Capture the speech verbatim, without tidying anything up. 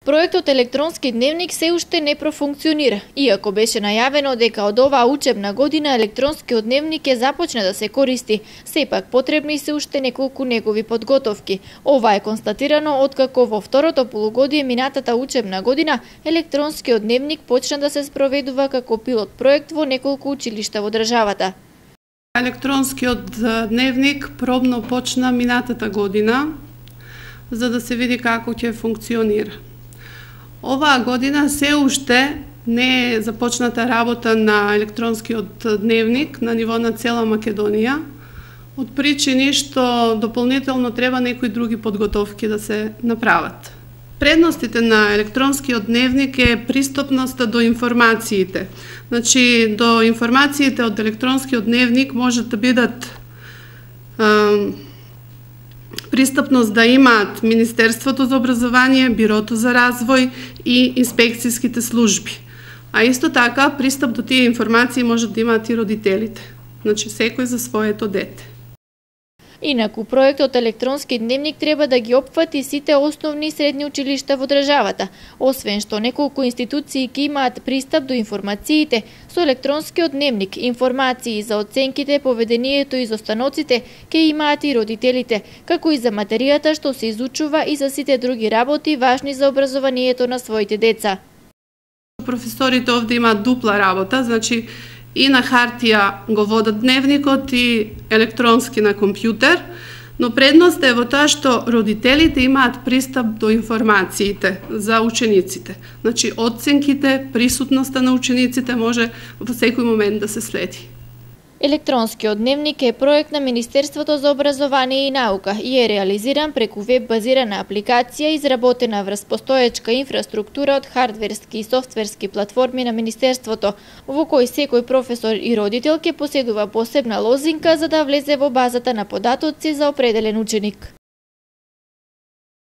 Проектот електронски дневник се уште не профункционира, иако беше најавено дека од оваа учебна година електронскиот дневник ќе започне да се користи, сепак потребни се уште неколку негови подготовки. Ова е констатирано откако во второто полугодие минатата учебна година електронскиот дневник почна да се спроведува како пилот проект во неколку училишта во државата. Електронскиот дневник пробно почна минатата година, за да се види како ќе функционира. Оваа година се уште не е започната работа на електронскиот дневник на ниво на цела Македонија, од причини што дополнително треба некои други подготовки да се направат. Предностите на електронскиот дневник е пристапноста до информациите. Значи, до информациите од електронскиот дневник можат да бидат е, пристапност да имаат Министерството за образование, Бирото за развој и инспекцијските служби. А исто така, пристап до тие информации можат да имаат и родителите. Значи, секој за своето дете. Инаку, проектот електронски дневник треба да ги опфати сите основни и средни училишта во државата, освен што неколку институции ќе имаат пристап до информациите, со електронскиот дневник информации за оценките, поведението и изостаноците ќе имаат и родителите, како и за материјата што се изучува и за сите други работи важни за образованието на своите деца. Професорите овде имаат дупла работа, значи и на хартија го водат дневникот и електронски на компјутер, но предност е во тоа што родителите имаат пристап до информациите за учениците. Значи, оценките, присутноста на учениците може во секој момент да се следи. Електронскиот дневник е проект на Министерството за образование и наука и е реализиран преку веб-базирана апликација изработена врз постоечка инфраструктура од хардверски и софтверски платформи на Министерството, во кој секој професор и родител ќе поседува посебна лозинка за да влезе во базата на податоци за определен ученик.